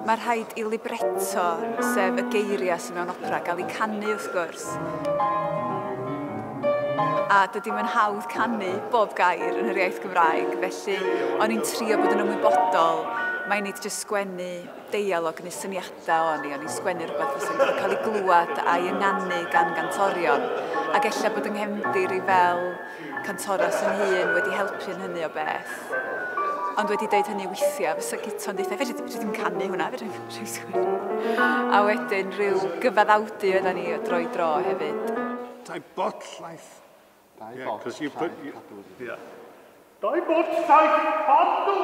Mae rhaid i libretto, sef y geiriau sydd mewn opera, gael ei canu wrth gwrs. A dydy mae'n hawdd canu bob gair yn yr iaith Gymraeg, felly o'n i'n trio bod yn ymwybodol mai nid jyst sgwennu deialog neu syniadau o'n i, o'n i'n sgwennu rhywbeth fysa'n gorfod cael ei glywed a'i ynganu gan gantorion. Ac ella bod yng nghefndir i fel cantores yn hun wedi helpu yn hynny o beth. Ond wedi deud hynny weithiau, fysa Guto'n deutha, fedri fedri ddim canu hwnna, fedri ddim sgwennu. A wedyn rhyw gyfaddawdu oedden ni o dro i dro hefyd. Dau bot llaeth. Dau Yeah, bot 'cause you put llaeth cadw. Yeah. Dau bot llaeth cadw!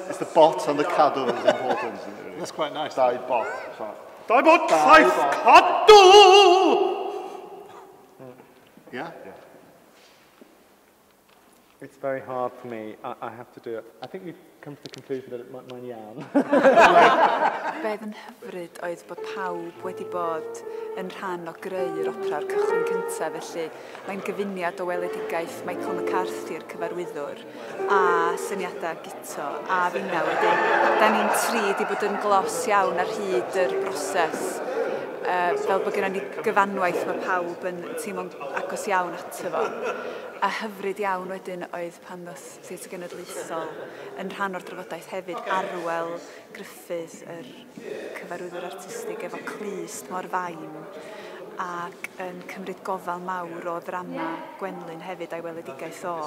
It's the bot and the cadw that's important, isn't it, really? That's quite nice. Dau bot. So, Dau bot Dau llaeth bot. Cadw! Yeah? Yeah. It's very hard for me. I have to do it. I think we've come to the conclusion that it might mae'n iawn. Be oedd yn hyfryd oedd bod pawb wedi bod yn rhan o greu'r opera o'r cychwyn cyntaf, felly mae'n gyfuniad o weledigaeth Michael McCarthy'r cyfarwyddwr a syniadau Guto a finna wedyn. Da ni'n tri wedi bod yn glos iawn ar hyd yr broses, fel bod gennym ni gyfanwaith mae pawb yn teimlo'n agos iawn ato fo. A hyfryd iawn wedyn oedd pan ddoth Theatr Genedlaethol yn rhan o'r drafodaeth hefyd, Arwel Gruffydd, yr cyfarwyddwr artistig efo clust mor fain ac yn cymryd gofal mawr o ddrama Gwenlyn hefyd a'i weledigaeth o.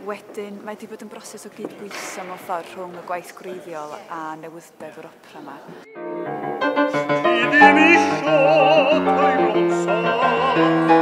Wedyn, mae wedi bod yn broses o gydbwyso mewn ffordd rhwng y gwaith gwreiddiol a newyddeb yr opera yma. Ti ddim isio teimlo'n saff.